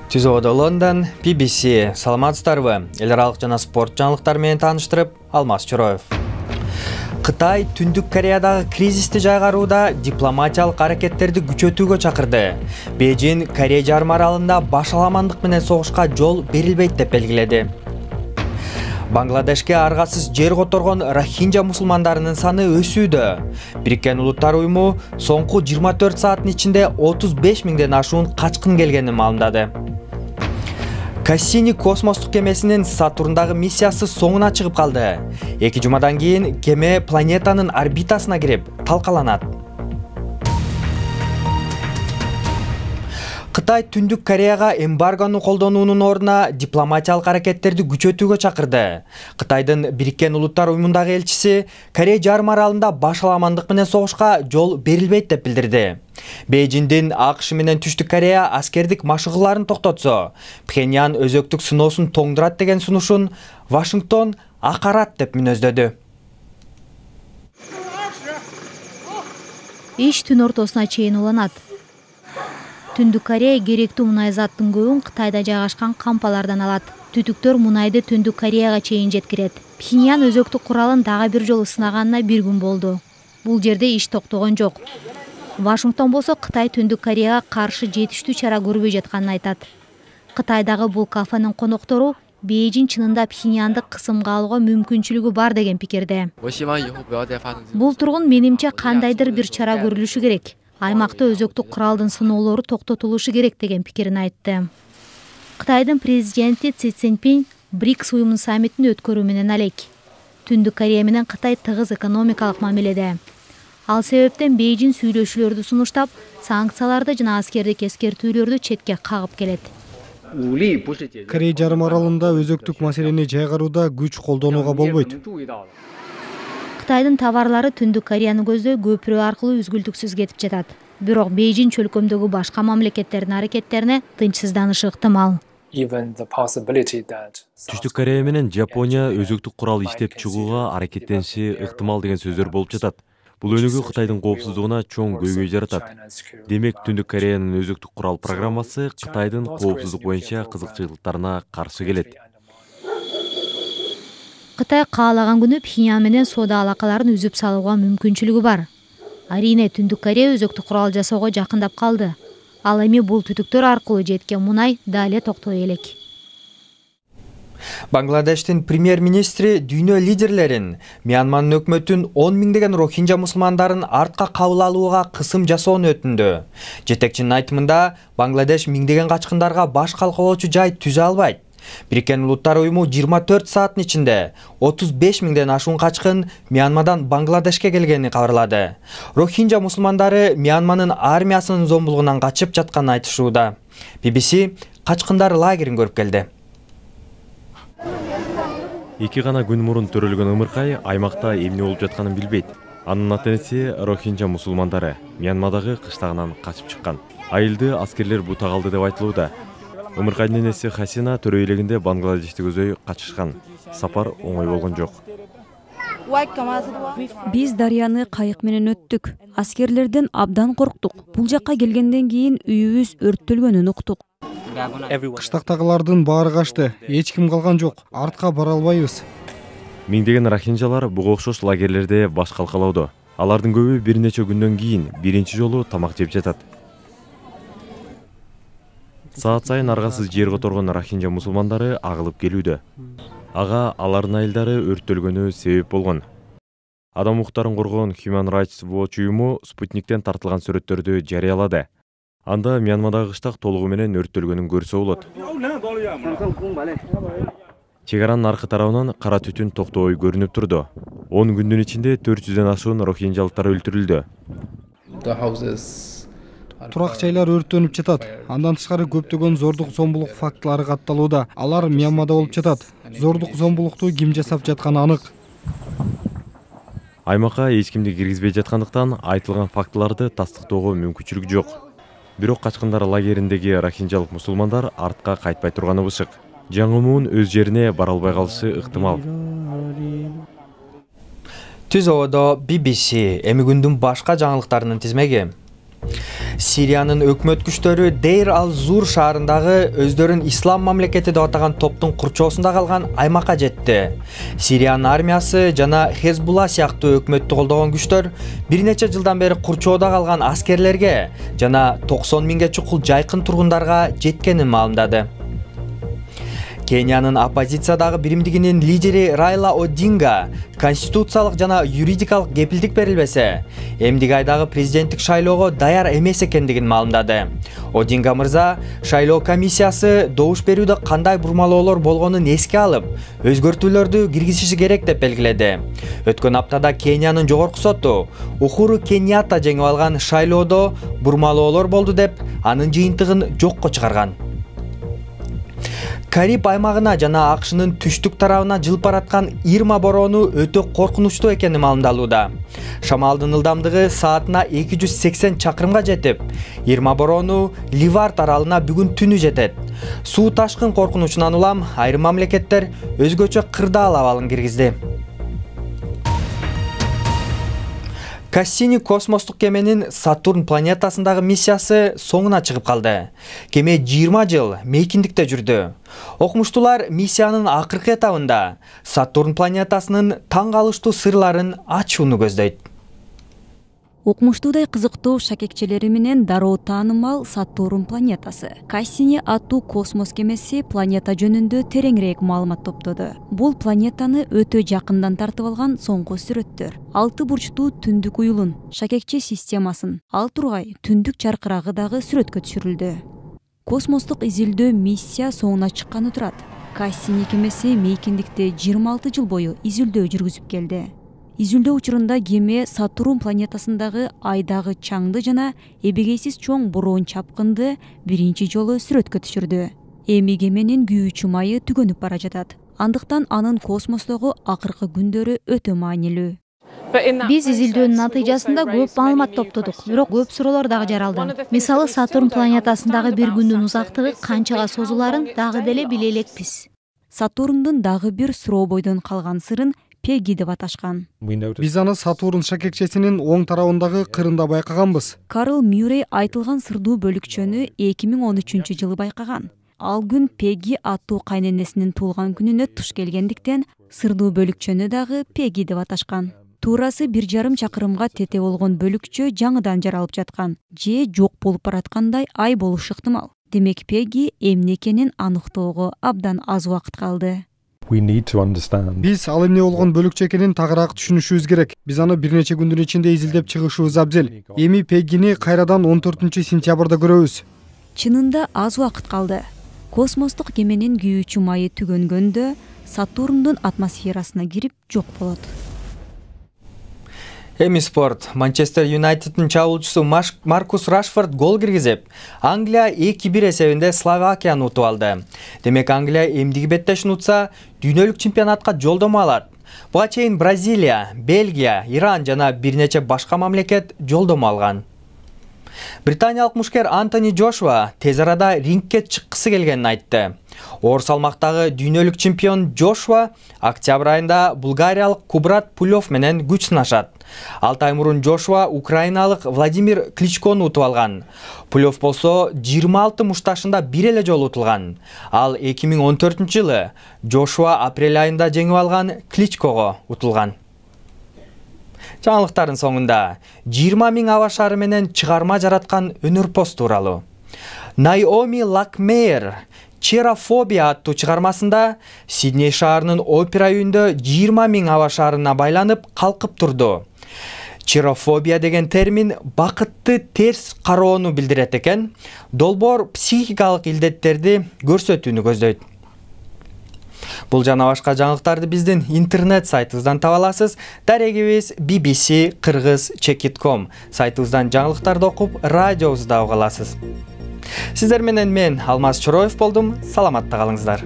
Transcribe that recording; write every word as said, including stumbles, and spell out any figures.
Түз абада Лондон, би би си. Саламатсыздарбы? Эл аралык жана спорт жаңылыктары менен тааныштырып, Алмаз Чороев. Кытай Түндүк Кореядагы кризисти жайгарууда дипломатиялык аракеттерди күчөтүүгө чакырды. Бейжин Корея жарым аралында башаламандык менен согушка жол берилбейт деп белгиледи. Бангладешке аргасыз жер которгон рохинджа мусулмандарынын саны өсүүдө. Бириккен Улуттар уюму соңку жыйырма төрт сааттын ичинде отуз беш миңден ашуун качкын келгенин маалымдады. Кассини космостук кемесинин Сатурндагы миссиясы соңуна чыгып калды. Эки жумадан кийин кеме планетанын орбитасына кирип, талкаланат. Кытай Түндүк Кореяга эмбаргону колдонуунун ордуна дипломатиялык аракеттерди күчөтүүгө чакырды. Кытайдын Бириккен Улуттар уюмундагы элчиси Корея жарым аралында башаламандык менен согушка жол берилбейт деп билдирди. Бейжиндин АКШ менен Түштүк Корея аскердик машыгууларын токтотсо, Пхеньян өзөктүк сыноосун тоңдурат деген сунушун Вашингтон акарат деп мүнөздөдү. Иш түн ортосуна чейин уланат. Түндүк Корея керектүү мунай заттын көбүн Кытайда жайгашкан кампалардан алат. Түтүктөр мунайды Түндүк Кореяга чейин жеткирет. Пхеньян өзөктүк куралын дагы бир жолу сынаганына бир күн болду. Бул жерде иш токтогон жок. Вашингтон болсо Кытай Түндүк Кореяга каршы жетиштүү чара көрбөй жатканын айтат. Кытайдагы бул кафенин коноктору Бейжин чынында Пхеньянды кысымга алууга мүмкүнчүлүгү бар деген пикирде. Бул тургун менимче кандайдыр бир чара көрүлүшү керек. Аймакта өзөктүк куралдын сыноолору токтотулушу керек деген пикирин айтты. Кытайдын президенти Си Цзиньпин БРИКС уюмунун саммитин өткөрүү менен алек. Түндүк Корея менен Кытай тыгыз экономикалык мамиледе. Ал себептен Бейжин сүйлөшүүлөрдү сунуштап, санкцияларды жана аскердик эскертүүлөрдү четке кагып келет. Корея жарым аралында өзөктүк маселени жайгарууда күч колдонууга болбойт. Кытайдын товарлары Түндүк Кореяны көздөй көпүрө аркылуу үзгүлтүксүз кетип жатат. Бирок Бейжин чөлкөмдөгү башка мамлекеттердин аракеттерине тынчсызданышы ыктымал. Түштүк Корея менен Жапония өзөктүк курал иштеп чыгууга аракеттениши ыктымал деген сөздөр болуп жатат. Бул өнүгүү Кытайдын коопсуздугуна чоң көйгөй жаратат. Демек, Түндүк Кореянын өзөктүк курал программасы Кытайдын коопсуздук боюнча кызыкчылыктарына каршы келет. Кытай каалаган күнү Пхеньян менен соода алакаларын үзүп салууга мүмкүнчүлүгү бар. Арине Түндүк Корея өзөктүк курал жасоого жакындап калды. Ал эми бул түтүктөр аркылуу жеткен мунай дале токтой элек. Бангладештин премьер-министри дүйнө лидерлерин Мьянманын өкмөтүн он миңдеген рохинджа мусулмандарын артка кабыл алууга кысым жасоону өтүндү. Жетекчинин айтымында, Бангладеш миңдеген качкындарга баш калкалоочу жай түзө албайт. Бириккен Улуттар уюму жыйырма төрт сааттын ичинде отуз беш миңден ашуун качкын Мьянмадан Бангладешке келгенин кабарлады. Рохинджа мусулмандары Мьянманын армиясынын зомбулугунан качып жатканын айтышууда. би би си качкындар лагерин көрүп келди. Эки гана күн мурун төрөлгөн ымыркай аймакта эмне болуп жатканын билбейт. Анын ата-энеси рохинджа мусулмандары Мьянмадагы кыштагынан качып чыккан. Айылды аскерлер бутак алды деп айтылууда. Ымыркайдын энеси Хасина төрө элегинде Бангладешти көзөй качышкан. Сапар оңой болгон жок. Биз дарыяны кайык менен өттүк. Аскерлерден абдан корктук. Бул жакка келгенден кийин үйүбүз өрттөлгөнүн уктук. Кыштактагылардын баары качты. Эч ким калган жок. Артка бара албайбыз. Миңдеген рохинджалар буга окшош лагерлерде баш калкалоодо. Алардын көбү бир нече күндөн кийин биринчи жолу тамак жеп жатат. Саат сайын аргасыз жер которгон рохинджа мусулмандары агылып келүүдө. Ага алардын айылдары өрттөлгөнү себеп болгон. Адам укуктарын коргоон Human Rights Watch уюму Спутниктен тартылган сүрөттөрдү жарыялады. Анда Мьянмадагы кыштак толугу менен өрттөлгөнүн көрсө болот. Чек аранын аркы тарабынан кара түтүн токтобой көрүнүп турду. он күндүн ичинде төрт жүздөн ашуун рохинджалыктар өлтүрүлдү. Турак жайлар өрттөнүп жатат. Андан тышкары көптөгөн зордук зомбулук фактылары катталууда. Алар Мьянмада болуп жатат. Зордук зомбулукту ким жасап жатканы анык. Аймакка эч кимди киргизбей жаткандыктан айтылган фактыларды тастыктоого мүмкүнчүлүк жок. Бирок качкындар лагериндеги рохинджалык мусулмандар артка кайтпай турганы бышык. Жаңымуун өз жерине бара албай калышы ыктымал. Түз абада би би си эми күндүн башка жаңылыктарынын тизмеги. Сириянын өкмөт күчтөрү Дейр ал-Зур шаарындагы өздөрүн ислам мамлекети деп атаган топтун курчоосунда калган аймакка жетти. Сириянын армиясы жана Хезбулла сыяктуу өкмөттү колдогон күчтөр бир нече жылдан бери курчоодо калган аскерлерге жана токсон миңге чукул жайкын тургундарга жеткенин маалымдады. Кениянын оппозициядагы биримдигинин лидери Райла Одинга конституциялык жана юридикалык кепилдик берилбесе, эмдиги айдагы президенттик шайлоого даяр эмес экендигин маалымдады. Одинга мырза шайлоо комиссиясы добуш берүүдө кандай бурмалоолор болгонун эске алып, өзгөртүүлөрдү киргизиши керек деп белгиледи. Өткөн аптада Кениянын жогорку соту Ухуру Кеньята жеңип алган шайлоодо бурмалоолор болду деп анын жыйынтыгын жокко чыгарган. Кариб аймагына жана АКШнын түштүк тарабына жылып бараткан Ирма бороону өтө коркунучтуу экени маалымдалууда. Шамалдын ылдамдыгы саатына эки жүз сексен чакырымга жетип, Ирма бороону Ливард аралына бүгүн түнү жетет. Суу ташкын коркунучунан улам айрым мамлекеттер өзгөчө кырдаал абалын киргизди. Кассини космостук кеменин Сатурн планетасындагы миссиясы соңуна чыгып калды. Кеме жыйырма жыл мейкиндикте жүрдү. Окумуштуулар миссиянын акыркы этабында Сатурн планетасынын таң калыштуу сырларын ачууну көздөйт. Окумуштуудай кызыктуу шакекчелери менен дароо таанымал Сатурн планетасы. Кассини аттуу космос кемеси планета жөнүндө тереңирээк маалымат топтоду. Бул планетаны өтө жакындан тартып алган соңку сүрөттөр. Алты бурчтуу түндүк уюлун, шакекче системасын, ал тургай түндүк чаркырагы дагы сүрөткө түшүрүлдү. Космостук изилдөө миссия соңуна чыкканы турат. Кассини кемеси мейкиндикте жыйырма алты жыл бою изилдөө жүргүзүп келди. Изилдөө учурунда кеме Сатурн планетасындагы айдагы чаңды жана эбегейсиз чоң бороон чапкынды биринчи жолу сүрөткө түшүрдү. Эми кеменин күйүүчү майы түгөнүп бара жатат. Андыктан анын космостогу акыркы күндөрү өтө маанилүү. Биз изилдөөнүн натыйжасында көп маалымат топтодук, бирок көп суроолор дагы жаралды. Мисалы, Сатурн планетасындагы бир күндүн узактыгы канчага созуларын дагы деле биле элекпиз. Сатурндун дагы бир суроо бойдон калган сырын Пеги деп аташкан. Биз аны Сатурн шакекчесинин оң тарабындагы кырында байкаганбыз. Карл Мюррей айтылган сырдуу бөлүкчөнү эки миң он үчүнчү жылы байкаган. Ал күн Пеги аттуу кайненесинин туулган күнүнө туш келгендиктен сырдуу бөлүкчөнү дагы Пеги деп аташкан. Туурасы бир жарым чакырымга тете болгон бөлүкчө жаңыдан жаралып жаткан же жок болуп бараткандай ай болушу ыктымал. Демек Пеги эмне экенин аныктоого абдан аз убакыт калды. Биз ал эмне болгон бөлүкчө экенин тагыраак түшүнүшүбүз керек. Биз аны бир нече күндүн ичинде изилдеп чыгышыбыз абзел. Эми Пегини кайрадан он төртүнчү сентябрда көрөбүз. Чынында аз убакыт калды. Космостук кеменин күйүүчү майы түгөнгөндө Сатурндун атмосферасына кирип жок болот. Эми спорт. Манчестер Юнайтеддин чабуулчусу Маркус Рашфорд гол киргизип, Англия эки бир эсебинде Словакияны утуп алды. Демек Англия эмдиги беттешин утса, дүйнөлүк чемпионатка жолдомо алат. Буга чейин Бразилия, Бельгия, Иран жана бир нече башка мамлекет жолдомо алган. Британиялык мушкер Антони Джошуа тез арада рингке чыккысы келгенин айтты. Оор салмактагы дүйнөлүк чемпион Джошуа октябрь айында булгариялык Кубрат Пулев менен күч сынашат. алты ай мурун Джошуа украиналык Владимир Кличкону утуп алган. Пулев болсо жыйырма алты мушташында бир эле жолу утулган. Ал эки миң он төртүнчү жылы Джошуа апрель айында жеңип алган Кличкого утулган. Жаңылыктардын соңунда жыйырма миң аба шаары менен чыгарма жараткан өнөрпоз тууралуу. Наоми Лакмейер Черофобия аттуу чыгармасында Сидней шаарынын опера үйүндө жыйырма миң аба шаарына байланып калкып турду. Черофобия деген термин бакытты терс кароону билдирет экен. Долбоор психикалык илдеттерди көрсөтүүнү көздөйт. Бул жана башка жаңылыктарды биздин интернет сайтыбыздан таба аласыз. Дарегибиз би би си кыргыз чекит точка ком сайтыбыздан жаңылыктарды окуп, радиобузду уга аласыз. Сиздер менен мен Алмаз Чороев болдум. Саламатта калыңыздар.